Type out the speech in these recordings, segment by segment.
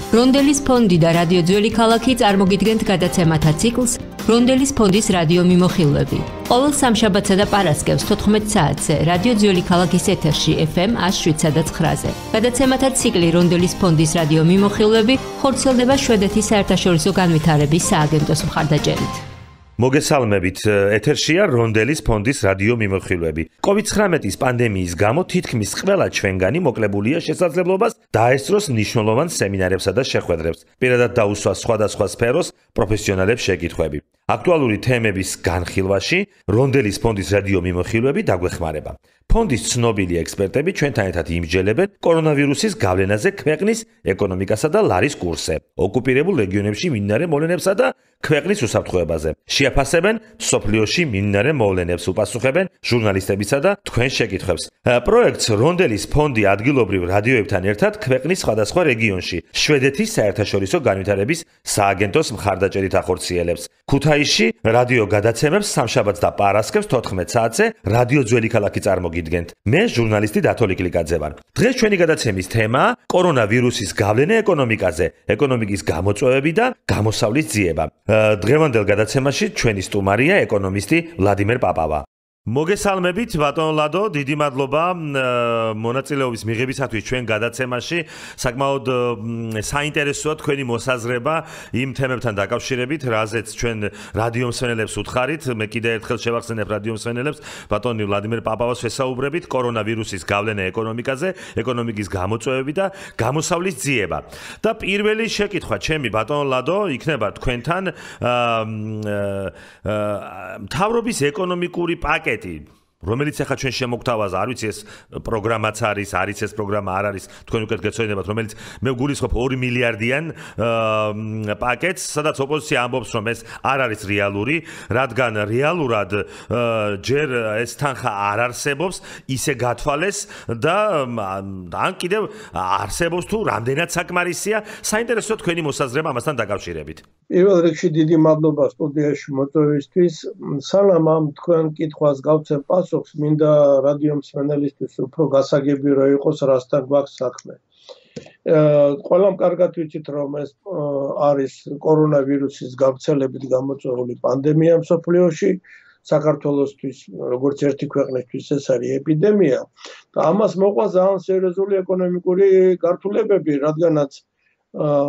რონდელის ფონდი და რადიო ძველი ქალაქი წარმოგიდგენთ გადაცემათა ციკლს რონდელის ფონდის რადიო მიმოხილვები. ყოველ სამშაბათსა და პარასკევს 14 საათზე რადიო ძველი ქალაქის ეთერში FM 107.9-ზე. გადაცემათა ციკლი რონდელის ფონდის რადიო მიმოხილვები ხორციელდება შვედეთის საერთაშორისო განვითარების სააგენტოს მხარდაჭერით. მოგესალმებით, ეთერშია რონდელის ფონდის რადიო მიმოხილვები. COVID-19-ის პანდემიის გამო თითქმის ყველა ჩვენგანი მოკლებულია შესაძლებლობას დაესწროს მნიშვნელოვან სემინარებსა და შეხვედრებს, პირადად დაუსვა სხვადასხვა სფეროს პროფესიონალებს შეკითხვები. აქტუალური თემების განხილვაში რონდელის ფონდის რადიო მიმოხილვები დაგვეხმარება. ფონდის ცნობილი ექსპერტები ჩვენთან ერთად იმსჯელებენ კორონავირუსის გავლენაზე ქვეყნის ეკონომიკასა და ლარის კურსზე, ოკუპირებულ რეგიონებში მიმდინარე მოვლენებსა და ქვეყნის უსაფრთხოებაზე. შეაფასებენ მსოფლიოში მიმდინარე მოვლენებს, უპასუხებენ ჟურნალისტებისა და თქვენ შეკითხვებს. პროექტს რონდელის ფონდი ადგილობრივ რადიოებთან ერთად ქვეყნის სხვადასხვა რეგიონში შვედეთის საერთაშორისო განვითარების სააგენტოს მხარდაჭერით ახორციელებს. ქუთაისში რადიო გადაცემებს სამშაბათს და პარასკევს 14 საათზე რადიო ძველი ქალაქი წარმოგიდგენთ. მე ჟურნალისტი დათო ლიკლიკაძე ვარ. დღეს ჩვენი გადაცემის თემაა კორონავირუსის გავლენა ეკონომიკაზე, ეკონომიკის გამოწვევები და გამოსავლის ძიება. დღევანდელ გადაცემაში ჩვენი სტუმარია ეკონომისტი ვლადიმერ პაპავა. მოგესალმებით ბატონ ლადო, დიდი მადლობა მონაწილეობის მიღებისათვის ჩვენ გადაცემაში. საკმაოდ საინტერესოა თქვენი მოსაზრება იმ თემებთან დაკავშირებით, რაზეც ჩვენ რადიო მსმენელებს უთხარით. მე კიდევ ერთხელ შევახსენებ რადიო მსმენელებს, ბატონი ვლადიმერ პაპავას ვესაუბრებით კორონავირუსის გავლენა ეკონომიკაზე, ეკონომიკის გამოწვევები და გამოსავლის ძიება. და პირველი შეკითხვა ჩემი ბატონ ლადო იქნება თქვენთან მთავრობის ეკონომიკური პაკეტი, რომელიც ახლა ჩვენ შემოგთავაზა, არ ვიცი ეს პროგრამაც არის ეს პროგრამა არ არის, თქვენ უკეთ გეცოდინებათ, რომელიც მე ვგულისხმობ 2 მილიარდიან პაკეტს, სადაც ოპოზიცია ამბობს, რომ ეს არ არის რეალური, რადგან რეალურად ჯერ ეს თანხა არ არსებობს, ისე გათვალეს და ან კიდევ არსებობს თუ რამდენად საკმარისია. საინტერესოა თქვენი მოსაზრება ამასთან დაკავშირებით. პირველ რიგში დიდი მადლობა სტუდიაში მოწვევისთვის. სანამ ამ თქვენ კითხვას გავცემ პასუხს, მინდა რადიო მსმენელისთვის უფრო გასაგები რო იყოს, რასთან გვაქვს საქმე. ყველამ კარგად ვიცით, რომ ეს არის კორონავირუსის გავრცელებით გამოწვეული პანდემია მსოფლიოში, საქართველოსთვის, როგორც ერთი ქვეყნისთვის ეს არის ეპიდემია და ამას მოყვა ძალიან სერიოზული ეკონომიკური გართულებები, რადგანაც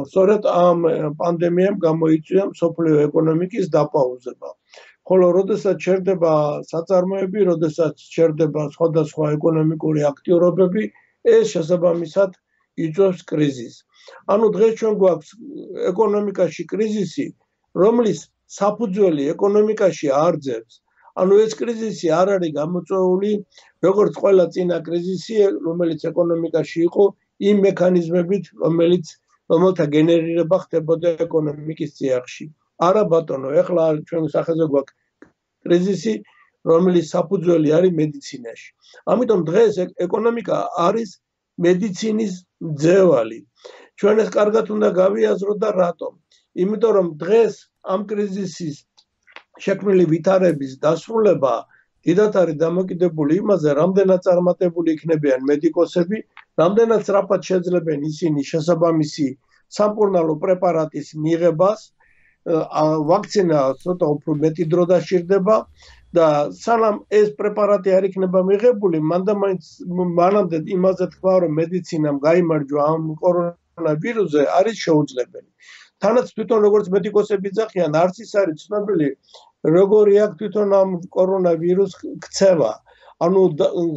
სწორედ ამ პანდემიამ გამოიწვია მსოფლიო ეკონომიკის დაპაუზება. ხოლო როდესაც ჩერდება საწარმოები, როდესაც ჩერდება სხვადასხვა ეკონომიკური აქტიურობები, ეს შესაბამისად იწვევს კრიზისს. ანუ დღეს ჩვენ გვაქვს ეკონომიკაში კრიზისი, რომლის საფუძველი ეკონომიკაში არძევს. ანუ ეს კრიზისი არ არის გამოწვეული როგორც ყველა წინა კრიზისი, რომელიც ეკონომიკაში იყო, იმ მექანიზმებით, რომელთა გენერირება ხდებოდა ეკონომიკის წიაღში. არა ბატონო, ეხლა ჩვენ სახელზე გვაქვს კრიზისი, რომლის საფუძველი არის მედიცინაში. ამიტომ დღეს ეკონომიკა არის მედიცინის მძევალი. ჩვენ ეს კარგად უნდა გავიაზროთ და რატომ? იმიტომ რომ დღეს ამ კრიზისის შექმნილი ვითარების დასრულება დიდად არის დამოკიდებული იმაზე, რამდენად წარმატებული იქნებიან მედიკოსები, რამდენად სწრაფად შეძლებენ ისინი შესაბამისი სამკურნალო პრეპარატის მიღებას, ვაქცინა ცოტა უფრო მეტი დრო დაშირდება და სანამ ეს პრეპარატი არ იქნება მიღებული, მანამდე იმაზე თქვა, რომ მედიცინამ გაიმარჯვა ამ კორონავირუსზე, არის შეუძლებელი. თანაც თვითონ როგორც მედიკოსები ძახიან, არც ის არის ცნობილი, როგორი აქვს თვითონ ამ კორონავირუს ქცევა. ანუ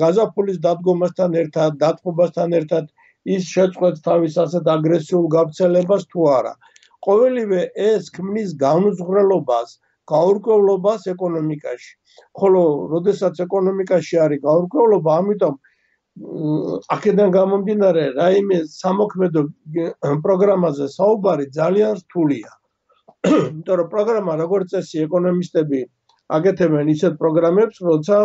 გაზაფხულის დადგომასთან ერთად, დათმობასთან ერთად ის შეწყვეტს თავის ასეთ აგრესიულ გავრცელებას თუ არა. ყოველივე ეს ქმნის განუზღვრელობას, გაურკვევლობას ეკონომიკაში. ხოლო როდესაც ეკონომიკაში არის გაურკვევლობა, ამიტომ აქედან გამომდინარე, რაიმე სამოქმედო პროგრამაზე საუბარი ძალიან რთულია. იმიტომ რომ პროგრამა, როგორც წესი, ეკონომისტები აკეთებენ ისეთ პროგრამებს, როცა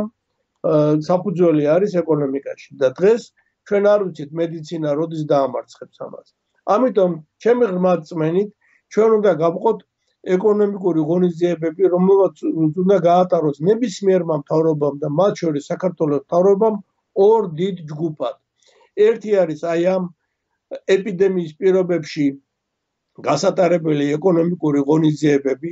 საფუძველი არის ეკონომიკაში და დღეს ჩვენ არ ვიცით მედიცინა როდის დაამარცხებს ამას. ამიტომ ჩემი ღრმა რწმენით ჩვენ უნდა გავყოთ ეკონომიკური ღონისძიებები, რომელსაც უნდა გაატაროს ნებისმიერმა მთავრობამ და მათ შორის საქართველოს მთავრობამ ორ დიდ ჯგუფად. ერთი არის აი ამ ეპიდემიის პირობებში გასატარებელი ეკონომიკური ღონისძიებები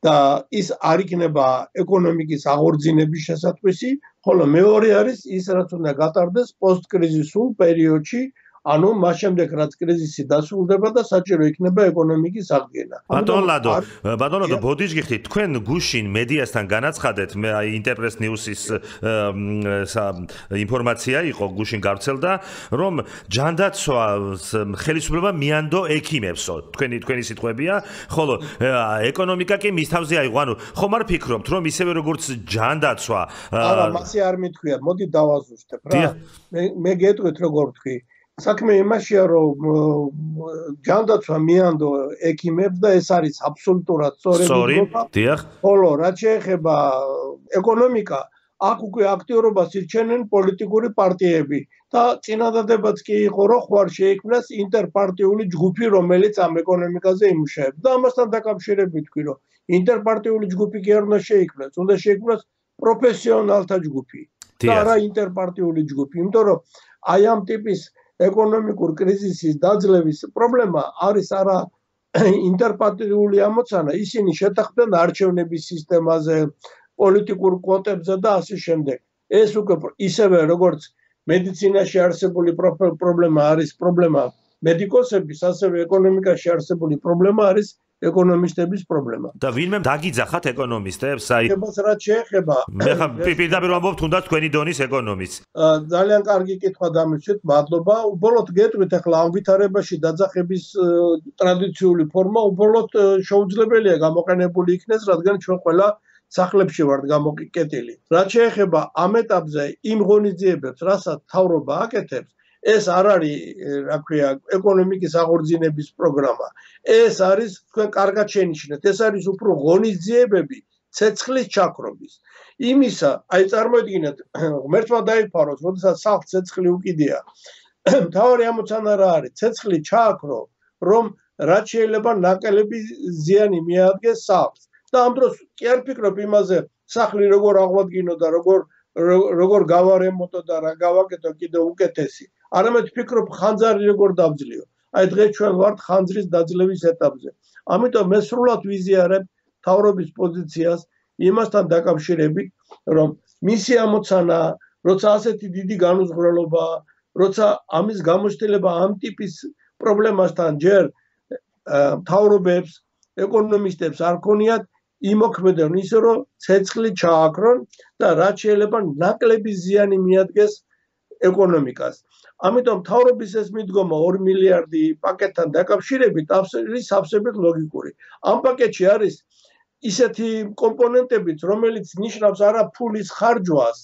და ის არ იქნება ეკონომიკის აღორძინების შესატყვისი, ხოლო მეორე არის ის, რაც უნდა გატარდეს პოსტკრიზისულ პერიოდში, ანუ მას შემდეგ რაც კრიზისი დასრულდება და საჭირო იქნება ეკონომიკის აღდგენა. ბატონ ლადო, ბოდიშგიხი, თქვენ გუშინ მედიასთან განაცხადეთ, მე ინტერპრეს ნიუსის ინფორმაცია იყო, გუშინ გავრცელდა, რომ ჯანდაცვას ხელისუფლება მიანდო ექიმებსო. თქვენი სიტყვებია, ხოლო ეკონომიკა კი მის თავზე აიღო. ანუ ხომ არ ფიქრობთ, რომ ისევე როგორც ჯანდაცვა არა, მასე არ მithქვია, მოდი დავაზუსტებ რა. მე გეტყვით როგორ ვთქვი. საქმე იმაშია, რომ ჯანდაცვა მიანდო ექიმებს და ეს არის აბსოლუტურად სწორი. ხოლო რაც შეეხება ეკონომიკა, აქ უკვე აქტიურობას ირჩენენ პოლიტიკური პარტიები და წინადადებაც კი იყო, რომ ხوار შეიქმნას ინტერპარტიული ჯგუფი, რომელიც ამ ეკონომიკაზე იმუშავებს. და ამასთან დაკავშირებით ვთქვი, რომ ინტერპარტიული ჯგუფი კი არ უნდა შეიქმნას, უნდა შეიქმნას პროფესიონალთა ჯგუფი და არა ინტერპარტიული ჯგუფი, იმიტომ რომ აი ამ ტიპის ეკონომიკურ კრიზისის დაძლევის პრობლემა არის არა ინტერპარტიული ამოცანა, ისინი შეთანხმდნენ არჩევნების სისტემაზე, პოლიტიკურ კვოტებზე და ასე შემდეგ. ეს უკვე ისევე როგორც მედიცინაში არსებული პრობლემა არის პრობლემა მედიკოსების, ასევე ეკონომიკაში არსებული პრობლემა არის ეკონომისტების პრობლემა. და ვინმე დაგიძახათ ეკონომისტებს? რაც შეეხება მე ხა პირდაპირ ვამბობ, თუნდაც თქვენი დონის ეკონომისტს. ძალიან კარგი კითხვა დამისვით, მადლობა. უბრალოდ გეტყვით, ახლა ამ ვითარებაში დაძახების ტრადიციული ფორმა უბრალოდ შეუძლებელია გამოყენებული იქნეს, რადგან ჩვენ ყველა სახლებში ვართ გამოკეტილი. რაც შეეხება ამ ეტაპზე იმ ღონისძიებებს, რასაც მთავრობა აკეთებს, ეს არ არის, რა ქვია, ეკონომიკის აღორძინების პროგრამა. ეს არის, თქვენ კარგად შენიშნეთ, ეს არის უფრო ღონისძიებები ცეცხლის ჩაქრობის. იმისა, აი წარმოიდგინეთ, ღმერთმა დაიფაროს, როდესაც სახლს ცეცხლი უკიდია. მთავარი ამოცანა რა არის? ცეცხლი ჩააქრო, რომ რაც შეიძლება ნაკელები ზიანი მიადგეს სახლს. და ამ დროს კი არ ფიქრობ იმაზე, სახლი როგორ აღვადგინო და როგორ გავარემონტო და რა გავაკეთო კიდე უკეთესი. არამედ ფიქრობ ხანძარი როგორ დავძლიო. აი დღეს ჩვენ ვართ ხანძრის დაძლევის ეტაპზე. ამიტომ მე სრულად ვიზიარებ მთავრობის პოზიციას იმასთან დაკავშირებით, რომ მისი ამოცანა, როცა ასეთი დიდი განუზღვრელობა, როცა ამის გამოცდილება ამ ტიპის პრობლემასთან ჯერ მთავრობებს, ეკონომისტებს არ ქონიათ იმოქმედონ ისე, რომ ცეცხლი ჩააქრონ და რაც შეიძლება ნაკლები ზიანი მიადგეს ეკონომიკას. ამიტომ მთავრობის ეს მიდგომა 2 მილიარდი პაკეტთან დაკავშირებით არის სავსებით ლოგიკური. ამ პაკეტში არის ისეთი კომპონენტებიც, რომელიც ნიშნავს არა ფულის ხარჯვას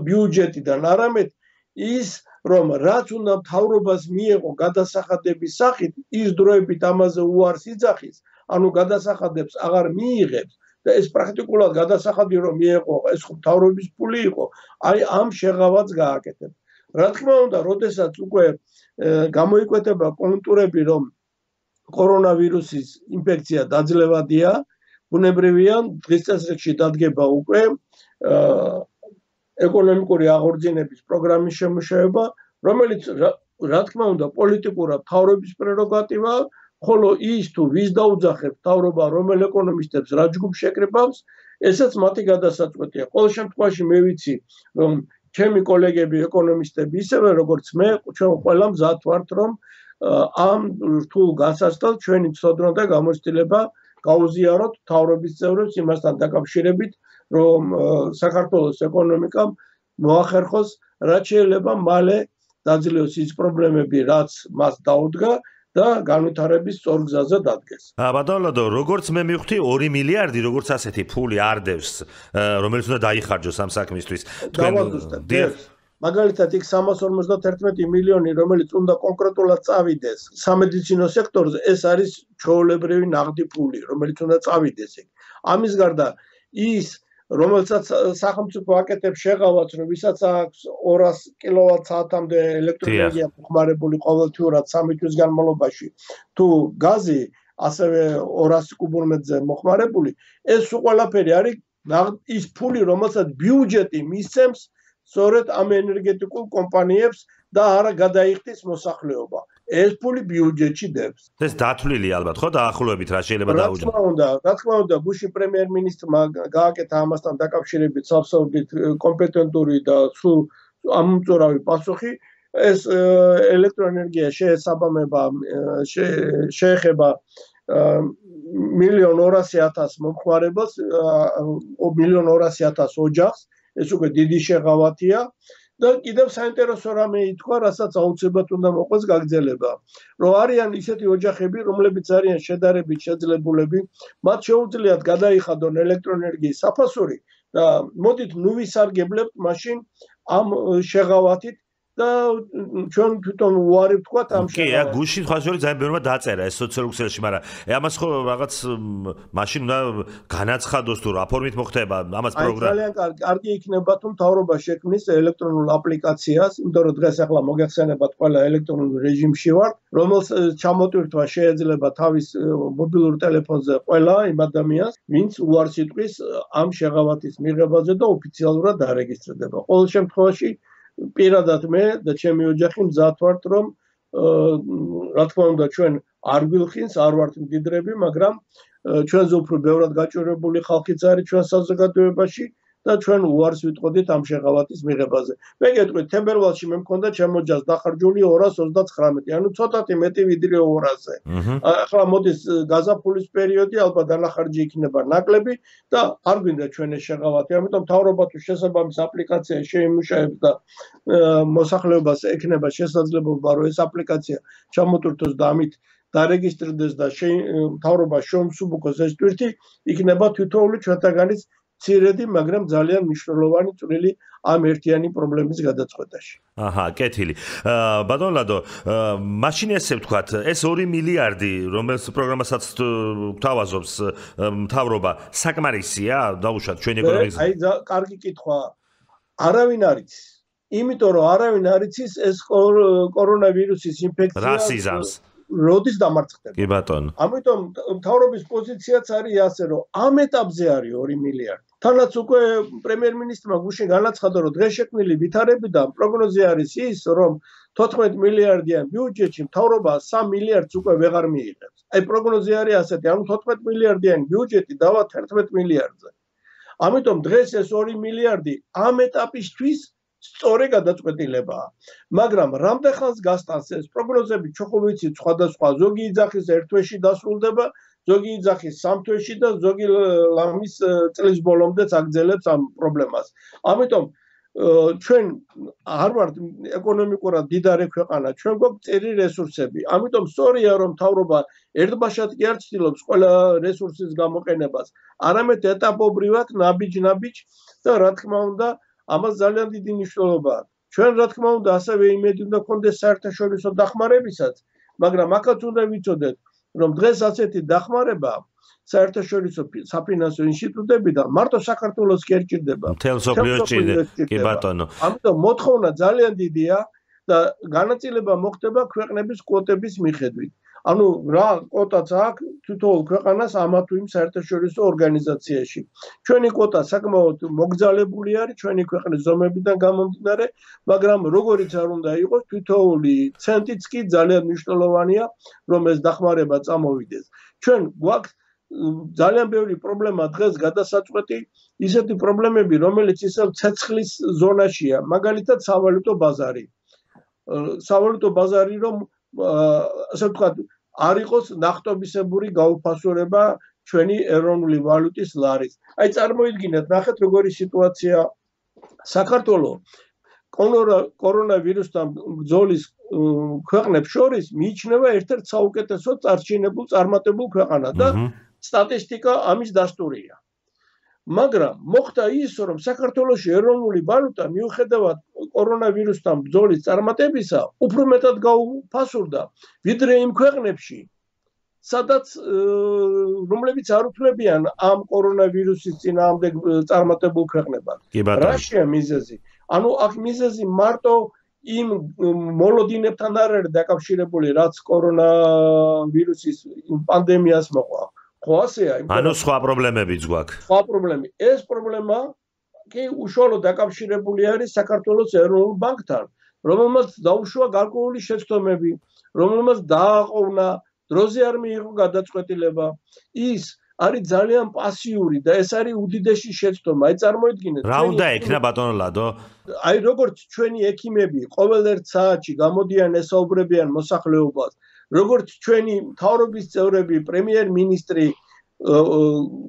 ბიუჯეტიდან, არამედ ის, რომ რაც უნდა მთავრობას მიეღო გადასახადების სახით, ის დროებით ამაზე უარს იძახის, ანუ გადასახადებს აღარ მიიღებს და ეს პრაქტიკულად გადასახადი რომ მიეღო, ეს მთავრობის ფული იყო, აი ამ შეღავაც გააკეთებს. რა თქმა უნდა, როდესაც უკვე გამოიკვეთება კონტურები, რომ კორონავირუსის ინფექცია დაძლევადია, ბუნებრივია, დღის წესრიგში დადგება უკვე ეკონომიკური აღორძინების პროგრამის შემუშავება, რომელიც რა თქმა უნდა, პოლიტიკურად მთავრობის პრეროგატივაა, ხოლო ის თუ ვის დაუძახებს მთავრობა, რომელ ეკონომისტებს რა ჯგუფს შეკრებავს, ესეც მათი გადასაწყვეტია. ყოველ შემთხვევაში მე ვიცი, რომ ჩემი კოლეგები ეკონომისტები ისევე როგორც მე, ჩვენ ყველა მზად ვართ, რომ ამ რთულ გასასწრად ჩვენი ცოდნა და გამოცდილება გაუზიაროთ მთავრობის წევრებს იმასთან დაკავშირებით, რომ საქართველოს ეკონომიკამ მოახერხოს, რაც შეიძლება მალე დაძლევოს ის პრობლემები, რაც მას დაუდგა და განვითარების სწორ გზაზე დადგეს. ბატონ ლადო, როგორც მე მივხვდი 2 მილიარდი, როგორც ასეთი ფული არდევს, რომელიც უნდა დაიხარჯოს ამ საქმისთვის. მაგალითად, იქ 351 მილიონი, რომელიც უნდა კონკრეტულად წავიდეს სამედიცინო სექტორზე, ეს არის ჩვეულებრივი ნაღდი ფული, რომელიც უნდა წავიდეს იქ. ამის გარდა ის რომელსაც სახელმწიფო აკეთებს შეღავაც, რომ ვისაც აქვს 200 კილოვატ-საათამდე ელექტროენერგია მოხმარებული ყოველთვიურად 3 თვის განმავლობაში, თუ გაზი ასევე 200 კუბომეტრზე მოხმარებული, ეს ყველაფერი არის ის ფული, რომელსაც ბიუჯეტი მისცემს სწორედ ამ ენერგეტიკულ კომპანიებს და არა გადაიხდის მოსახლეობა. ეს ფული ბიუჯეტში დებს. ეს დათვლილი ალბათ ხო დაახლოებით რა შეიძლება დაუჯდა. რა თქმა უნდა, გუშინ პრემიერ-მინისტრმა გააკეთა ამასთან დაკავშირებით სავსებით კომპეტენტური და სულ ამომწურავი პასუხი. ეს ელექტროენერგია შეეხება 1,200,000 მომხმარებელს, 1,200,000 ოჯახს, ეს უკვე დიდი შეღავათია და კიდევ საინტერესო რამე ითქვა, რასაც აუცილებლად უნდა მოყვეს გაგრძელება, რომ არიან ისეთი ოჯახები, რომლებიც არიან შედარებით შეძლებულები, მათ შეუძლიათ გადაიხადონ ელექტროენერგიის საფასური და მოდით ნუ ვისარგებლებთ მაშინ ამ შეღავათით და ჩვენ თვითონ უარი ვთქვათ ამ შეღავათით. კი, გუშინ ხაშორი ძალიან ბევრმა დაწერა ეს სოციალურ ქსელში, მაგრამ ამას ხო რაღაც მაშინ უნდა განაცხადოს თუ რა ფორმით მოხდება ამას პროგრამა. ძალიან კარგი იქნება თუ მთავრობა შექმნის ელექტრონულ აპლიკაციას, იმიტომ რომ დღეს ახლა მოგეხსენებათ ყველა ელექტრონულ რეჟიმში ვარ, რომელს ჩამოტვირთვა შეიძლება თავის მობილურ ტელეფონზე ყველა იმ ადამიანს, ვინც უარს იტყვის ამ შეღავათის მიღებაზე და ოფიციალურად დარეგისტრდება. ყოველ შემთხვევაში პირადად მე და ჩემი ოჯახი მზად ვართ, რომ რა თქმა უნდა ჩვენ არ გვილხინს, არ ვართ მდიდრები, მაგრამ ჩვენზე უფრო ბევრად გაჭირვებული ხალხიც არის ჩვენ საზოგადოებაში და ჩვენ უარს ვიტყოდით ამ შეღავათის მიღებაზე. მე გეტყვით, თებერვალში მე მქონდა ჩემ ოჯახს დახარჯული 239, ანუ ცოტათი მეტი ვიდრე 200-ზე. ახლა მოდის გაზაფხულის პერიოდი, ალბათ დანახარჯი იქნება ნაკლები და არ გვინდა ჩვენ ეს შეღავათი. ამიტომ მთავრობა თუ შესაბამის აპლიკაცია შეიმუშავებს და მოსახლეობას ექნება შესაძლებლობა, რომ ეს აპლიკაცია ჩამოტვირთოს და ამით დარეგისტრდეს და მთავრობა შეუმსუბუქოს ეს ტვირთი, იქნება თითოეული ჩვენთაგანის ცირედი, მაგრამ ძალიან მნიშვნელოვანი წვლილი ამ ერთიანი პრობლემის გადაწყვეტაში. აჰა, კეთილი. ბატონ ლადო, მაშინ ესე ვთქვათ, ეს 2 მილიარდი, რომელს პროგრამასაც გვთავაზობს მთავრობა, საკმარისია დაუშვათ ჩვენი ეკონომიკის? აი, კარგი კითხვა. არავინ არ იცის. იმიტომ რომ არავინ არ იცის ეს კორონავირუსის ინფექცია რას იზამს? როდის დამარცხდება. კი ბატონო. ამიტომ მთავრობის პოზიციაც არის ასე, რომ ამ ეტაპზე არის 2 მილიარდი. თანაც უკვე პრემიერ-მინისტრმა გუშინ განაცხადა, რომ დღეს შექმნილი ვითარებიდან პროგნოზი არის ის, რომ 14 მილიარდიან ბიუჯეტში მთავრობა 3 მილიარდს უკვე ვეღარ მიიღებს. აი პროგნოზი არის ასეთი, ანუ 14 მილიარდიანი ბიუჯეტი დავა 11 მილიარდზე. ამიტომ დღეს ეს 2 მილიარდი ამ ეტაპისთვის სწორი გადაწყვეტილებაა. მაგრამ რამდენ ხანს გასტანს ეს პროგნოზები ჩვენ ხო ვიცით სხვადასხვა, ზოგი იძახის ერთ თვეში დასრულდება, ზოგი იძახის 3 თვეში და ზოგი ლამის წლის ბოლომდეც აგრძელებს ამ პრობლემას. ამიტომ ჩვენ არ ვართ ეკონომიკურად დიდარი ქვეყანა, ჩვენ გვაქვს წერი რესურსები. ამიტომ სწორია რომ მთავრობა ერთბაშად კი არ ცდილობს ყველა რესურსის გამოყენებას, არამედ ეტაპობრივად ნაბიჯ-ნაბიჯ და რა თქმა უნდა ამას ძალიან დიდი მნიშვნელობა აქვს. ჩვენ რა თქმა უნდა ასევე იმედი უნდა გქონდეს საერთაშორისო დახმარებისაც, მაგრამ აქაც უნდა ვიცოდეთ, რომ დღეს ასეთი დახმარება საერთაშორისო საფინანსო ინსტიტუტებიდან მარტო საქართველოს კი არ ჭირდება. მთელ მსოფლიოს ჭირდება, კი ბატონო. ამიტომ მოთხოვნა ძალიან დიდია და განაწილება მოხდება ქვეყნების კვოტების მიხედვით. ანუ რა კვოტაც აქვს თითოეულ ქვეყანას ამა თუ იმ საერთაშორისო ორგანიზაციაში. ჩვენი კვოტა საკმაოდ მოგზალებული არის ჩვენი ქვეყნის ზომებიდან გამომდინარე, მაგრამ როგორიც არ უნდა იყოს, თითოეული ცენტიც კი ძალიან მნიშვნელოვანია, რომ ეს დახმარება წამოვიდეს. ჩვენ გვაქვს ძალიან ბევრი პრობლემა დღეს გადასაწყვეტი, ისეთი პრობლემები, რომელიც ისევ ცეცხლის ზონაშია, მაგალითად სავალუტო ბაზარი. სავალუტო ბაზარი რომ ასე ვთქვათ არ იყოს ნახტობისებური გაუფასურება ჩვენი ეროვნული ვალუტის ლარის. აი წარმოიდგინეთ, ნახეთ როგორი სიტუაცია საქართველოს კორონავირუსთან ბრძოლის ქვეყნებს შორის მიიჩნევა ერთ-ერთ საუკეთესო წარჩინებულ წარმატებულ ქვეყანად და სტატისტიკა ამის დასტურია. მაგრამ მოხდა ის, რომ საქართველოში ეროვნული ვალუტა მიუხედავად კორონავირუსთან ბრძოლის წარმატებისა, უფრო მეტად გაუფასურდა, ვიდრე იმ ქვეყნებში, სადაც რომლებიც არ უთმობიან ამ კორონავირუსის წინააღმდეგ წარმატებულ ქვეყნებად. რაშია მიზეზი? ანუ აქ მიზეზი მარტო იმ მოლოდინებთან არ არის დაკავშირებული, რაც კორონავირუსის პანდემიას მოყვა. ხო ასეა? ანუ სხვა პრობლემებიც გვაქვს. სხვა პრობლემი. ეს პრობლემა კი უშუალოდ დაკავშირებული არის საქართველოს ეროვნულ ბანკთან, რომელმაც დაუშვა გარკვეული შეცდომები, რომელმაც დააყოვნა, დროზე არ მიიღო გადაწყვეტილება, ის არის ძალიან პასიური და ეს არის უდიდესი შეცდომა. აი წარმოიდგინეთ. რა უნდა ექნა ბატონო ლადო? აი როგორც ჩვენი ექიმები ყოველ ერთ საათში გამოდიან ესაუბრებიან მოსახლეობას, როგორც ჩვენი მთავრობის წევრები, პრემიერ-მინისტრი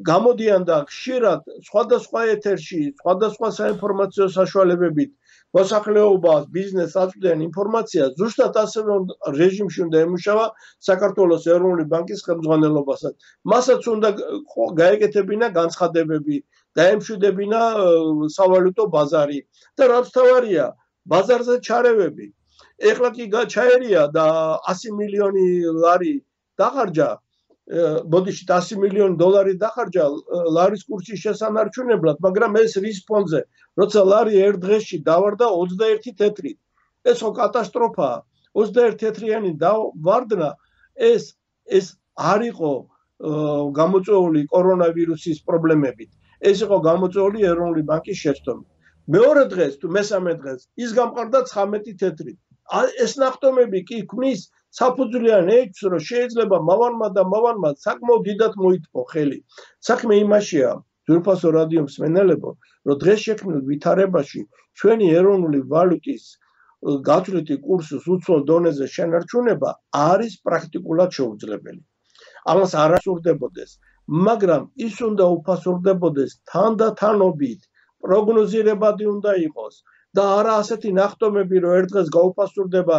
გამოდიან და ხშირად სხვადასხვა ეთერში, სხვადასხვა საინფორმაციო საშუალებებით მოსახლეობას, ბიზნესს აწვდიან ინფორმაციას, ზუსტად ასევე რეჟიმში უნდა ემუშავა საქართველოს ეროვნული ბანკის ხელმძღვანელობასაც. მასაც უნდა გაეკეთებინა განცხადებები, დაემშვიდებინა სავალუტო ბაზარი და რაც თავარია, ბაზარზე ჩარევები. ეხლა კი ჩაერია და 100 მილიონი ლარი დახარჯა, ბოდიში 100 მილიონი დოლარი დახარჯა ლარის კურსის შესანარჩუნებლად, მაგრამ ეს რის ფონზე, როცა ლარი ერთ დღეში დავარდა 21 თეთრით. ეს ხო კატასტროფაა. 21 თეთრიანი დავარდნა ეს არ იყო გამოწვეული კორონავირუსის პრობლემებით. ეს იყო გამოწვეული ეროვნული ბანკის შეცდომით. მეორე დღეს თუ მესამე დღეს ის გამყარდა 19 თეთრით. ეს ნახტომები კი ქმნის საფუძვლიან ეჭვს, რომ შეიძლება მავანმა საკმაოდ დიდად მოითმო ხელი. საქმე იმაშია, ძვირფასო რადიო მსმენელებო, რომ დღეს შექმნილ ვითარებაში ჩვენი ეროვნული ვალუტის გათვლითი კურსის უცხოელ დონეზე შენარჩუნება არის პრაქტიკულად შეუძლებელი. ამას არ ასურდებოდეს, მაგრამ ის უნდა უფასურდებოდეს თანდათანობით, პროგნოზირებადი უნდა იყოს და არა ასეთი ნახტომები, რომ ერთ დღეს გაუფასურდება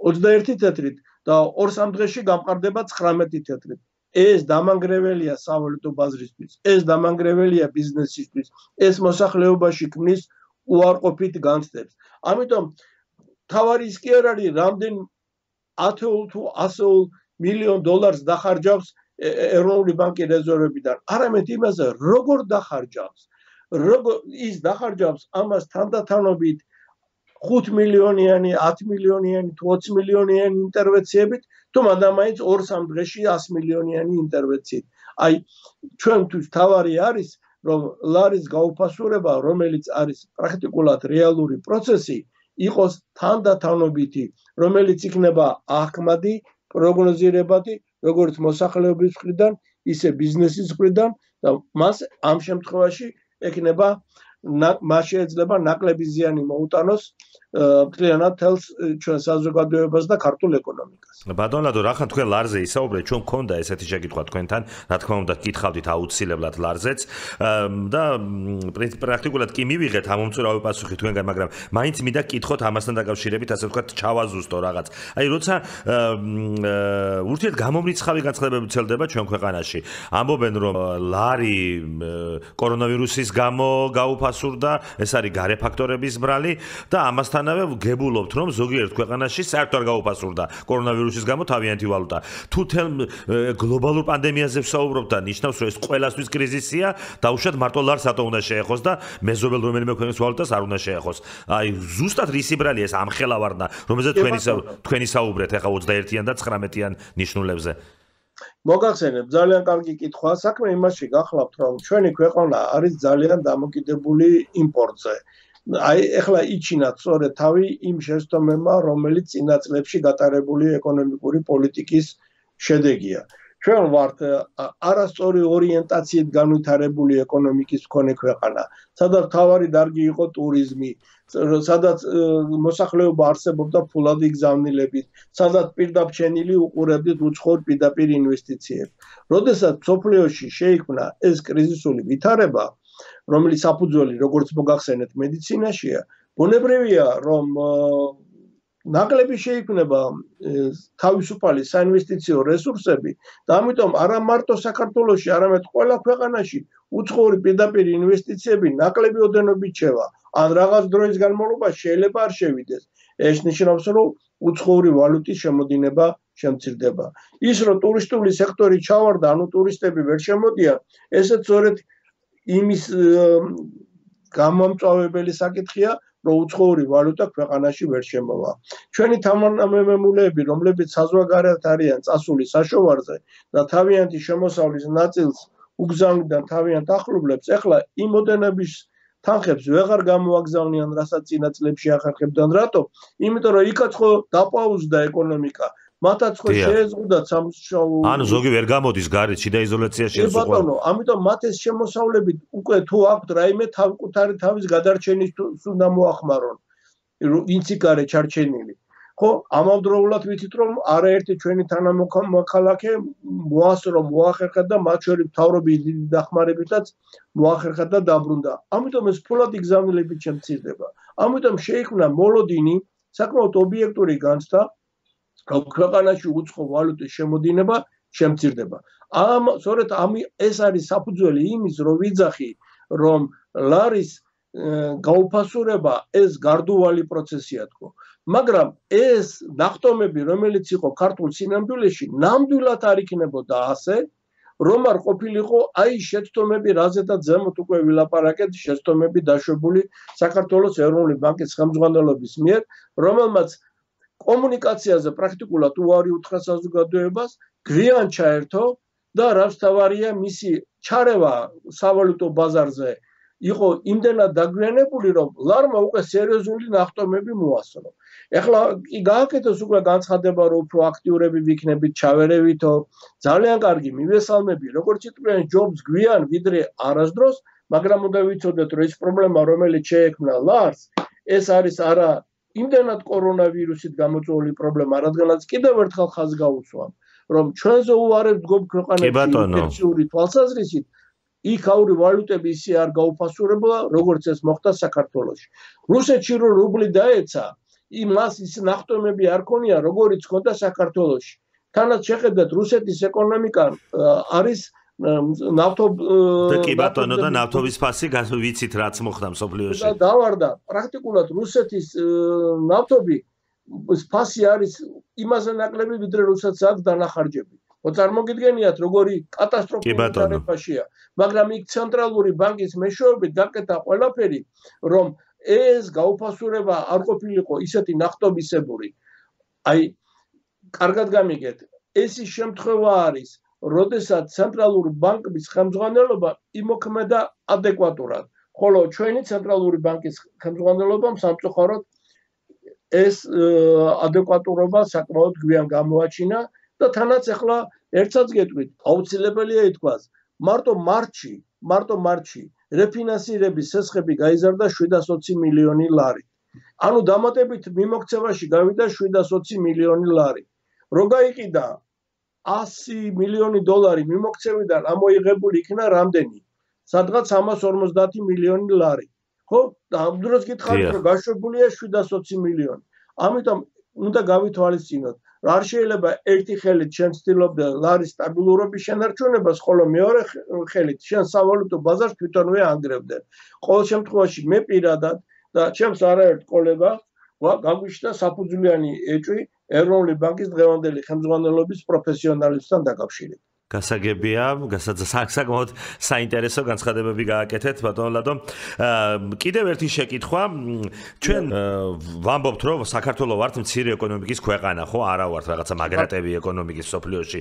21 თეთრით და 2-3 დღეში გამყარდება 19 თეთრით. ეს დამანგრეველია სავალუტო ბაზრისთვის, ეს დამანგრეველია ბიზნესისთვის, ეს მოსახლეობაში ქმნის უარყოფით განცდებს. ამიტომ თავარი ის კი არ არის, რამდენ 10 თუ 100 მილიონ დოლარს დახარჯავს ეროვნული ბანკი რეზერვებიდან, არამედ იმაზე, როგორ დახარჯავს. ის დახარჯავს ამას თანდათანობით 5 მილიონიანი, 10 მილიონიანი თუ 20 მილიონიანი ინტერვენციებით, თუ მადამაინც 2-3 დღეში 100 მილიონიანი ინტერვენციით. აი, ჩვენთვის თავარი არის, რომ ლარის გაუფასურება, რომელიც არის პრაქტიკულად რეალური პროცესი, იყოს თანდათანობითი, რომელიც იქნება ახმადი, პროგნოზირებადი, როგორც მოსახლეობის მხრიდან, ისე ბიზნესის მხრიდან და მას ამ შემთხვევაში ექნება მას შეიძლება ნაკლები ზიანი მოუტანოს მთლიანად თელს ჩვენ საზოგადოებას და ქართულ ეკონომიკას. ბატონ ლადო, რახან თქვენ ლარზე ისაუბრეთ, ჩვენ მქონდა ესეთი შეკითხვა თქვენთან, რა თქმა უნდა, გითხავდით აუცილებლად ლარზეც და პრაქტიკულად კი მივიღეთ ამომწურავი პასუხი თქვენგან, მაგრამ მაინც მინდა გკითხოთ ამასთან დაკავშირებით, ასე ვთქვათ, ჩავაზუსტო რაღაც. აი, როცა ურთიერთგამომრიცხავი განცხადებები ვრცელდება ჩვენ ქვეყანაში, ამბობენ, რომ ლარი კორონავირუსის გამო გაუფასურდა, ეს არის გარე ფაქტორების ბრალი და ამასთანავე გებულობთ, რომ ზოგიერთ ქვეყანაში საერთოდ არ გაუფასურდა კორონავირუსის გამო თავიანთი ვალუტა. თუ თელ გლობალურ პანდემიაზე ვსაუბრობთ და ნიშნავს, რომ ეს ყველასთვის კრიზისია, დაუშვათ მარტო ლარს რატო უნდა შეეხოს და მეზობელ რომელიმე ქვეყნის ვალუტას არ უნდა შეეხოს. აი, ზუსტად რისი ბრალია ეს ამხელავარდნა, რომელზეც თქვენი საუბრეთ ახლა 21-იან და 19-იან ნიშნულებზე. მოგახსენებ, ძალიან კარგი კითხვაა. საქმე იმაში გახლავთ, რომ ჩვენი ქვეყანა არის ძალიან დამოკიდებული იმპორტზე. აი, ეხლა იჩინათ სწორედ თავი იმ შეცდომებმა, რომელიც წინა წლებში გატარებული ეკონომიკური პოლიტიკის შედეგია. ჩვენ ვართ არასწორი ორიენტაციით განვითარებული ეკონომიკის მქონე ქვეყანა, სადაც მთავარი დარგი იყო ტურიზმი, სადაც მოსახლეობა არსებობდა ფულადი გზავნილებით, სადაც პირდაპირ უყურებდით უცხოურ პირდაპირ ინვესტიციებს. როდესაც მსოფლიოში შეიქმნა ეს კრიზისული ვითარება, რომელიც საფუძველი, როგორც მოგახსენეთ, მედიცინაშია, ბუნებრივია, რომ ნაკლები შეიქმნება თავისუფალი საინვესტიციო რესურსები და ამიტომ არა მარტო საქართველოში, არამედ ყველა ქვეყანაში უცხოური პირდაპირ ინვესტიციები ნაკლები ოდენობით შევა. ან რაღაც დროის განმავლობაში შეიძლება არ შევიდეს. ეს ნიშნავს, რომ უცხოური ვალუტის შემოდინება შემცირდება. ის, რომ ტურისტული სექტორი ჩავარდა, ანუ ტურისტები ვერ შემოდიან, ესეც სწორედ იმის გამომწვავებელი საკითხია, რომ უცხოური ვალუტა ქვეყანაში ვერ შემოვა. ჩვენი თანამემამულეები, რომლებიც საზღვარგარეთ არიან წასული საშოვარზე და თავიანთი შემოსავლის ნაწილს უგზავნიდან თავიანთ ახლობლებს, ეხლა იმ ოდენობის თანხებს ვეღარ გამოაგზავნიან, რასაც წინა წლებში ახერხებდნენ. რატო? იმიტომ რომ იქაც ხო დაპაუზდა ეკონომიკა. მათაც ხო შეეზღუდათ სამუშაო. ანუ ზოგი ვერ გამოდის გარეთ, შიდა იზოლაციაში ეს უყვა. ბატონო, ამიტომ მათ ეს შემოსავლებით უკვე თუ აქვთ რაიმე თავკუთარი თავის გადარჩენის უნდა მოახმარონ. ვინც იქ არის ჩარჩენილი. ხო, ამავდროულად ვიცით რომ არაერთი ჩვენი თანამოქალაქე მოახერხა და მათ შორის მთავრობის დიდი დახმარებითაც მოახერხა და დაბრუნდა. ამიტომ ეს ფულად იგზავნილებით შემცირდება. ამიტომ შეიქმნა მოლოდინი, საკმაოდ ობიექტური განცდა, რომ ქვეყანაში უცხო ვალუტის შემოდინება შემცირდება. სწორედ ეს არის საფუძველი იმის, რომ ვიძახი, რომ ლარის გაუფასურება ეს გარდუვალი პროცესია თქო. მაგრამ ეს ნახტომები, რომელიც იყო ქართულ სინამდვილეში, ნამდვილად არ იქნებოდა ასე, რომ არ ყოფილიყო აი შეცდომები, რაზედაც ზემოთ უკვე ვილაპარაკეთ, შეცდომები დაშვებული საქართველოს ეროვნული ბანკის ხელმძღვანელობის მიერ, რომელმაც კომუნიკაციაზე პრაქტიკულად უარი უთხრა საზოგადოებას, გვიან ჩაერთო და რაც თავარია მისი ჩარევა სავალუტო ბაზარზე იყო იმდენად დაგვიანებული, რომ ლარმა უკვე სერიოზული ნახტომები მოასწრო. ეხლა კი გააკეთოს უკვე განცხადება, რომ უფრო აქტიურები ვიქნებით, ჩავერევითო, ძალიან კარგი, მივესალმები, როგორც იტყვიან ჯობს გვიან ვიდრე არასდროს, მაგრამ უნდა ვიცოდეთ, რომ ეს პრობლემა, რომელიც შეექმნა ლარს, ეს არის არა იმდენად კორონავირუსით გამოწვეული პრობლემა, რადგანაც კიდევ ერთხელ ხაზს გაუსვამ, რომ ჩვენზე უარებს დგომ ქვეყანაში ინფექციური თვალსაზრისით, იქაური ვალუტები ისე არ გაუფასურებულა, როგორც ეს მოხდა საქართველოში. რუსეთში რო რუბლი დაეცა, იმას ის ნახტომები არ ქონია, როგორიც ჰქონდა საქართველოში. თანაც შეხედეთ, რუსეთის ეკონომიკა არის და კი ბატონო და ნავთობის ფასი ვიცით რაც მოხდა მსოფლიოში. და დავარდა, პრაქტიკულად რუსეთის ნავთობი ფასი არის იმაზე ნაკლები, ვიდრე რუსეთს აქვს დანახარჯები. წარმოგიდგენიათ, როგორი კატასტროფული დარებაშია, მაგრამ იქ ცენტრალური ბანკის მეშვეობით გაკეთა ყველაფერი, რომ ეს გაუფასურება არ ყოფილიყო ისეთი ნახტობისებური. აი, კარგად გამიგეთ, ეს ის შემთხვევა არის, როდესაც ცენტრალური ბანკის ხელმძღვანელობა იმოქმედა ადეკვატურად, ხოლო ჩვენი ცენტრალური ბანკის ხელმძღვანელობამ სამწუხაროდ ეს ადეკვატურობა საკმაოდ გვიან გამოაჩინა და თანაც ახლა ერთსაც გეტყვით, აუცილებელია ითქვას, მარტო მარტში რეფინანსირების სესხები გაიზარდა 720 მილიონი ლარი. ანუ დამატებით მიმოქცევაში გავიდა 720 მილიონი ლარი. რო გაიყიდა 100 მილიონი დოლარი მიმოქცევიდან ამოიღებული იქნა რამდენი? სადღაც 150 მილიონი ლარი. ხო? და ამ დროს გითხარით, რომ გაშვებულია 720 მილიონი. ამიტომ უნდა გავითვალისწინოთ, არ შეიძლება ერთი ხელით შენ ცდილობდე ლარის სტაბილურობის შენარჩუნებას, ხოლო მეორე ხელით შენ სავალუტო ბაზარს თვითონვე ანგრევდე. ყოველ შემთხვევაში მე პირადად და ჩემს არაერთ კოლეგას გაგვიშთა საფუძვლიანი ეჭვი ეროვნული ბანკის დღევანდელი ხელმძღვანელობის პროფესიონალებთან დაკავშირებით. გასაგებია, საკმაოდ საინტერესო განცხადებები გააკეთეთ, ბატონო ლადო. კიდევ ერთი შეკითხვა, ჩვენ ვამბობთ, რომ საქართველოს ვართ მცირე ეკონომიკის ქვეყანა, ხო, არა ვართ რაღაცა მაგრატები ეკონომიკის სოფლიოში.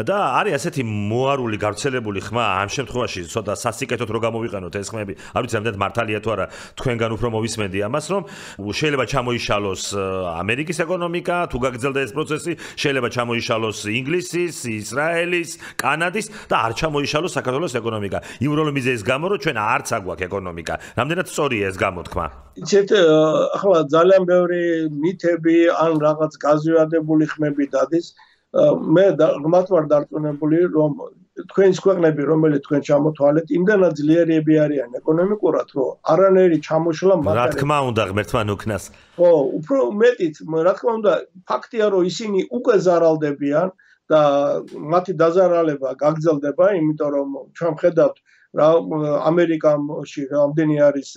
და არის ასეთი მოარული, გავრცელებული ხმა, ამ შემთხვევაში ცოტა სასიკეთოდ რო გამოვიყენოთ ეს ხმები, არ ვიცი, ამდენ მართალია თუ არა, თქვენგან უფრო მოვისმენდი ამას, რომ შეიძლება ჩამოიშალოს ამერიკის ეკონომიკა, თუ გაგრძელდა ეს პროცესი, შეიძლება ჩამოიშალოს ინგლისის, ისრაელის, კანადის და არ ჩამოიშალოს საქართველოს ეკონომიკა. იურული მიზეზის გამო, რომ ჩვენ არც აგვაქვს ეკონომიკა. რამდენად სწორია ეს გამოთქმა? იცით, ახლა ძალიან ბევრი მითები ან რაღაც გაზვიადებული ხმები დადის. მე ღმათ ვარ დარწმუნებული, რომ თქვენს ქვეყნები, რომელიც თქვენ ჩამოთვალეთ, იმდანაც ძლიერები არიან ეკონომიკურად, რომ არანაირი ჩამოშლა მათ რა თქმა უნდა, ღმერთთან უკნას. ხო, უფრო მეტიც, რა თქმა უნდა, ფაქტია, რომ ისინი უკვე ზარალდებიან. და მათი დაზარალება გაგრძელდება, იმიტომ რომ ჩვენ ხედავთ რა ამერიკაში რამდენი არის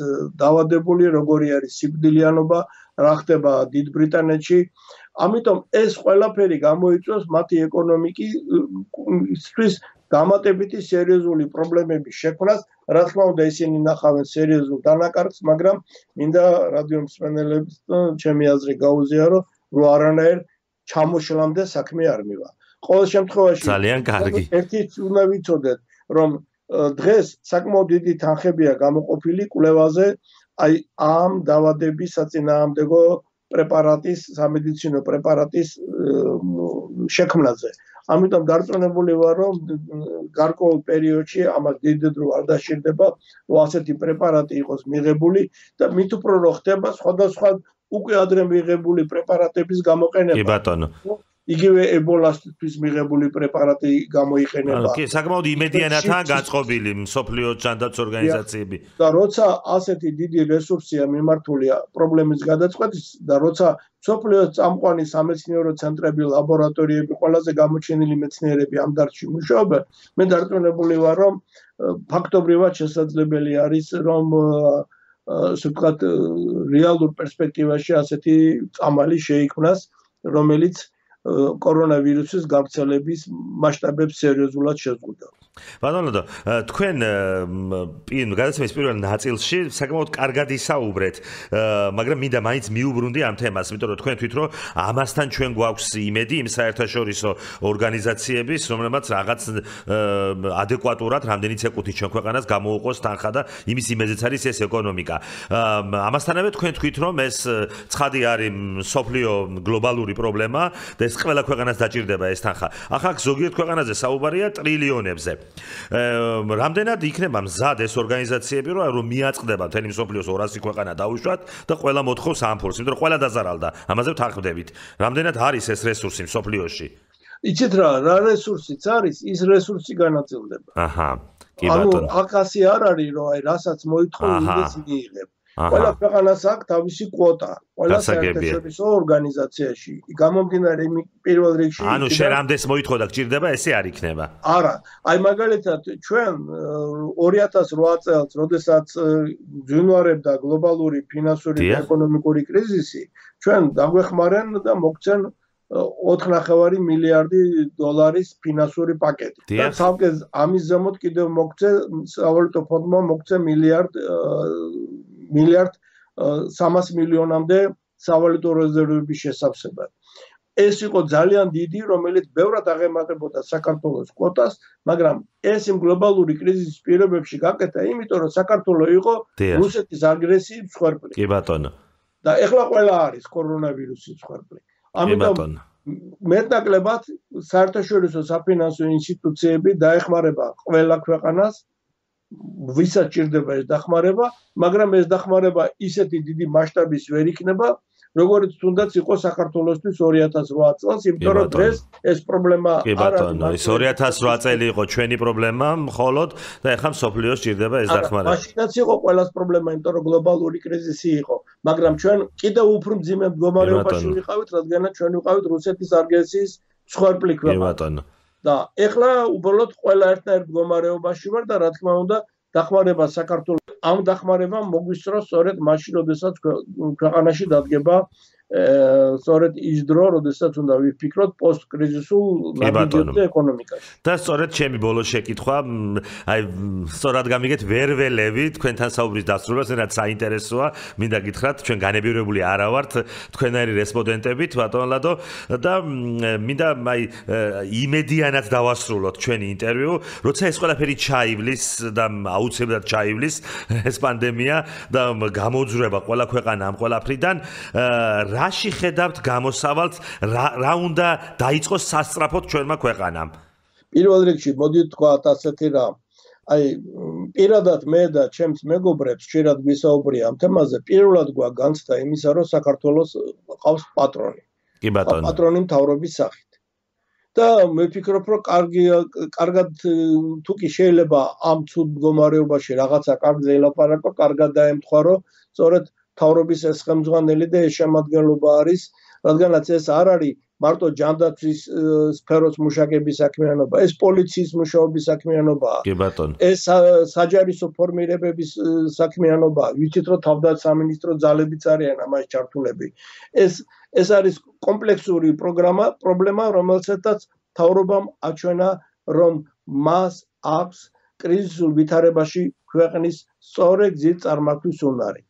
დავადებული, როგორი არის სიკვდილიანობა, რა ხდება დიდ ბრიტანეთში. ამიტომ ეს ყველაფერი გამოიწვევს მათი ეკონომიკის დამატებითი სერიოზული პრობლემების შექმნას. რა თქმა უნდა, ისინი ნახავენ სერიოზულ დანაკარგს, მაგრამ მინდა რადიო მსმენელებს ჩემი აზრი გაუზიარო, რომ არანაირ ჩამოშლამდე საქმე არ მივა. ყოველ შემთხვევაში ძალიან კარგი. ერთიც უნდა ვიცოდეთ, რომ დღეს საკმაოდ დიდი თანხებია გამოყოფილი კვლევაზე აი ამ დაავადების საწინააღმდეგო პრეპარატის, სამედიცინო პრეპარატის შექმნაზე. ამიტომ დარწმუნებული ვარ, რომ გარკვეულ პერიოდში ამას დიდ დრო არ დაშირდება, ასეთი პრეპარატი იყოს მიღებული და მით უფრო რომ ხდება სხვადასხვა უკვე ადრე მიღებული პრეპარატების გამოყენება. კი ბატონო. იგივე ებოლასთვის მიღებული პრეპარატი გამოიყენება. კი, საკმაოდ იმედიანათაა გაწყობილი მსოფლიო ჯანდაცვის ორგანიზაციები. და როცა ასეთი დიდი რესურსია მიმართული პრობლემის გადაწყვეტის და როცა მსოფლიოს წამყვანი სამეცნიერო ცენტრები, ლაბორატორიები, ყველაზე გამოჩენილი მეცნიერები ამ დარგში მუშაობენ, მე დარწმუნებული ვარ, რომ ფაქტობრივად შესაძლებელი არის, რომ ასე ვთქვათ, რეალურ პერსპექტივაში ასეთი წამალი შეიქმნას, რომელიც კორონავირუსის გავრცელების მასშტაბებს სერიოზულად შეზღუდვა. ბატონო, თქვენ გადაცემის პირველ ნაწილში საკმაოდ კარგად ისაუბრეთ, მაგრამ მინდა მაინც მიუბრუნდი ამ თემას, იმიტომ რომ თქვენ თვით რომ ამასთან ჩვენ გვაქვს იმედი იმ საერთაშორისო ორგანიზაციების, რომლებმაც რაღაც ადეკვატურად რამდენიც ეკუთვნით ჩვენ ქვეყანას გამოუყოს თანხა და იმის იმედზეც არის ეს ეკონომიკა. ამასთანავე თქვენ თვით რომ ეს ცხადი არის მსოფლიო გლობალური პრობლემა და ეს ყველა ქვეყანას დაჭირდება ეს თანხა. ახლა ზოგიერთ ქვეყანაზე საუბარია ტრილიონებზე. რამდენად იქნება მზად ეს ორგანიზაციები რომ მიაწყდება მთელი მსოფლიოს 200 ქვეყანა დაუშვათ და ყველა მოთხოვს ამ ფულს, იმიტომ რომ ყველა დაზარალდა. ამაზე ვთანხმდებით. რამდენად არის ეს რესურსი მსოფლიოში? იცით რა რესურსიც არის, ის რესურსი განაწილდება. აჰა. კი ბატონო. აკასი არ არის რომ აი რასაც მოითხოვ იმის მიიღებ. ყველა ქვეყანას აქვს თავისი კვოტა. ყველა საერთაშორისო ორგანიზაციაში. გამომდინარე იმ პირველ რიგში ანუ შენ რამდენს მოითხოვ და გჭირდება, ესე არ იქნება. არა, აი მაგალითად ჩვენ 2008 წელს, როდესაც ძინვარებდა გლობალური ფინანსური და ეკონომიკური კრიზისი, ჩვენ დაგვეხმარენ და მოგცენ 4.5 მილიარდი დოლარის ფინანსური პაკეტი. და თავკე ამის ზემოთ კიდევ მოგცე სავალუტო ფონდმა მოგცე მილიარდ 300 მილიონამდე სავალუტო რეზერვების შესავსებად. ეს იყო ძალიან დიდი, რომელიც ბევრად აღემატებოდა საქართველოს კვოტას, მაგრამ ეს იმ გლობალური კრიზისის პირობებში გაკეთა, იმიტომ რომ საქართველო იყო რუსეთის აგრესიის მსხვერპლი. კი ბატონო. და ეხლა ყველა არის კორონავირუსის მსხვერპლი. ამიტომ მეტნაკლებად საერთაშორისო საფინანსო ინსტიტუციები დაეხმარება ყველა ქვეყანას, ვისაც ჭირდება ეს დახმარება, მაგრამ ეს დახმარება ისეთი დიდი მასშტაბის ვერ იქნება, როგორც თუნდაც იყო საქართველოსთვის 2008 წელს, იმიტომ რომ დღეს ეს პრობლემა არ არის. 2008 წელი იყო ჩვენი პრობლემა მხოლოდ და ეხლა მსოფლიოს ჭირდება ეს დახმარება. მაშინაც იყო ყველას პრობლემა, იმიტომ რომ გლობალური კრიზისი იყო, მაგრამ ჩვენ კიდევ უფრო მძიმე მდგომარეობაში ვიყავით, რადგანაც ჩვენ ვიყავით რუსეთის აგრესიის მსხვერპლი ქვეყანა. და ეხლა უბრალოდ ყველა ერთნაირ მდგომარეობაში ვარ და რა თქმა უნდა დახმარება საქართველოს ამ დახმარებამ მოგვისწროს სწორედ მაშინ, როდესაც ქვეყანაში დადგება სწორედ ის დრო, როდესაც უნდა ვიფიქროთ პოსტკრიზისულ ნაბიჯებზე ეკონომიკაში. და სწორედ ჩემი ბოლო შეკითხვა, აი სწორად გამიგეთ ვერ ველევი თქვენთან საუბრის დასრულებას, რაც საინტერესოა, მინდა გითხრათ, ჩვენ განებირებული არა ვართ თქვენაირი რესპონდენტებით, ბატონ ლადო, და მინდა აი იმედიანად დავასრულოთ ჩვენი ინტერვიუ, როცა ეს ყველაფერი ჩაივლის და აუცილებლად ჩაივლის ეს პანდემია და გამოძვრება ყველა ქვეყანა ამ ყველაფრიდან, რაში ხედავთ გამოსავალს, რა უნდა დაიწყოს სასწრაფოდ ჩვენმა ქვეყანამ? პირველ რიგში მოდი ვთქვათ ასეთი რამ. აი პირადად მე და ჩემს მეგობრებს ხშირად გვისაუბრია ამ თემაზე, პირველად განცდა იმისა, რომ საქართველოს ყავს პატრონი. კი ბატონო. პატრონი მთავრობის სახით. და მე ვფიქრობ, რომ კარგად თუ კი შეიძლება ამ ცუდ მდგომარეობაში რაღაცა კარგზე ელაპარაკო, კარგად დაემთხვა, რომ სწორედ მთავრობის ეს ხელმძღვანელი და ეს შემადგენლობა არის, რადგანაც ეს არ არის მარტო ჯანდაცვის სფეროს მუშაკების საქმიანობა, ეს პოლიციის მუშაობის საქმიანობაა. კი ბატონო. ეს საჯარისო ფორმირებების საქმიანობაა. ვიცით, რომ თავდაცამინისტრო ძალებიც არიან ამაში ჩართულები. ეს არის კომპლექსური პრობლემა, რომელსაც მთავრობამ აჩვენა, რომ მას აქვს კრიზისულ ვითარებაში ქვეყნის სწორი გზით წარმართვის უნარი.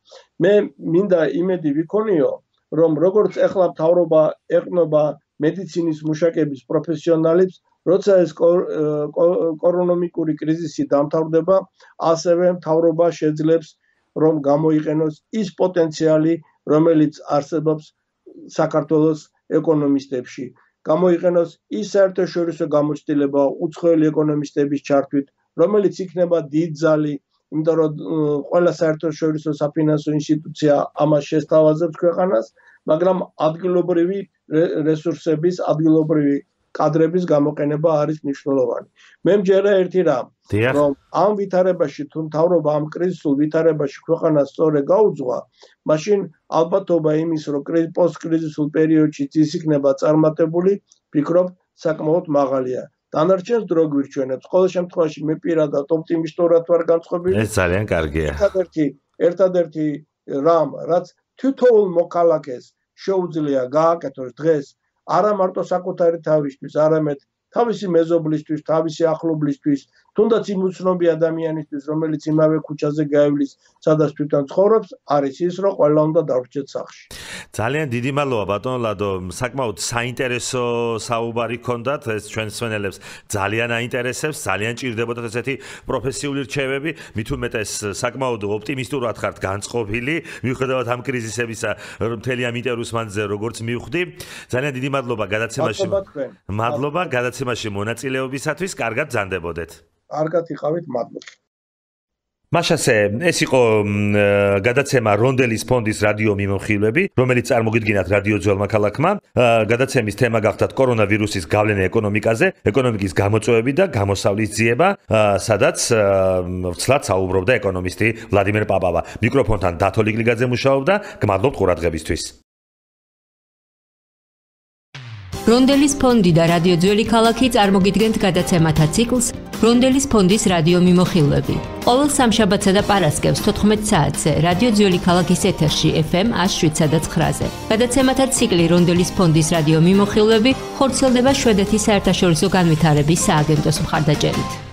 მე მინდა იმედი ვიქონიო, რომ როგორც ეხლა მთავრობა ეყნობა მედიცინის მუშაკების პროფესიონალებს, როცა ეს ეკონომიკური კრიზისი დამთავრდება, ასევე მთავრობა შეძლებს რომ გამოიყენოს ის პოტენციალი, რომელიც არსებობს საქართველოს ეკონომისტებში. გამოიყენოს ის საერთაშორისო გამოცდილება უცხოელი ეკონომისტების ჩართვით, რომელიც იქნება დიდ ძალი, იმიტომ რომ ყველა საერთაშორისო საფინანსო ინსტიტუცია ამას შესთავაზებს ქვეყანას, მაგრამ ადგილობრივი რესურსების, ადგილობრივი კადრების გამოყენება არის მნიშვნელოვანი. მე მჯერა ერთი რამ, რომ ამ ვითარებაში თუ მთავრობა ამ კრიზისულ ვითარებაში ქვეყანას სწორედ გაუძღვა, მაშინ ალბათობა იმის, რომ პოსტკრიზისულ პერიოდშიც ის იქნება წარმატებული, ვფიქრობ, საკმაოდ მაღალია. დანარჩენს დრო გვირჩენებს. ყოველ შემთხვევაში მე პირადად ოპტიმისტურად ვარ განწყობილი. ეს ძალიან კარგია. ერთადერთი რამ, რაც თითოეულ მოქალაქეს შეუძლია გააკეთოს დღეს, არა მარტო საკუთარი თავისთვის, არამედ თავისი მეზობლისთვის, თავისი ახლობლისთვის, თუნდაც იმ უცნობი ადამიანისთვის, რომელიც იმავე ქუჩაზე გაივლის, სადაც თვითონ ცხოვრობს, არის ის, რომ ყველა უნდა დავრჩეთ სახლში. ძალიან დიდი მადლობა ბატონ ლადო, საკმაოდ საინტერესო საუბარი გქონდათ, ეს ჩვენს მსმენელებს ძალიან აინტერესებს, ძალიან ჭირდებოდათ ესეთი პროფესიული რჩევები, მით უმეტეს საკმაოდ ოპტიმისტურად ხართ განწყობილი, მიუხედავად ამ კრიზისებისა, მთელი ამ ინტერვიუს მანძილზე როგორც მივხვდი. ძალიან დიდი მადლობა გადაცემაში. მადლობა გადაცემაში მონაწილეობისათვის, კარგად ბრძანდებოდეთ. კარგად იყავით, მადლობა. მაშასე, ეს იყო გადაცემა რონდელის ფონდის რადიო მიმოხილვები, რომელიც წარმოგიდგინათ რადიო ძველმა ქალაქმა. გადაცემის თემა გახდათ კორონავირუსის გავლენა ეკონომიკაზე, ეკონომიკის გამოწვევები და გამოსავლის ძიება, სადაც ვრცლად საუბრობდა ეკონომისტი ვლადიმერ პაპავა. მიკროფონთან დათო ლიკლიგაძე მუშაობდა, გმადლობთ ყურადღებისთვის. რონდელის ფონდი და რადიო ძველი ქალაქი წარმოგიდგენთ გადაცემათა ციკლს რონდელის ფონდის რადიო მიმოხილვები. ყოველ სამშაბათსა და პარასკევს 14 საათზე რადიო ძველი ქალაქის ეთერში FM 107.9-ზე. გადაცემათა ციკლი რონდელის ფონდის რადიო მიმოხილვები ხორციელდება შვედეთის საერთაშორისო განვითარების სააგენტოს მხარდაჭერით.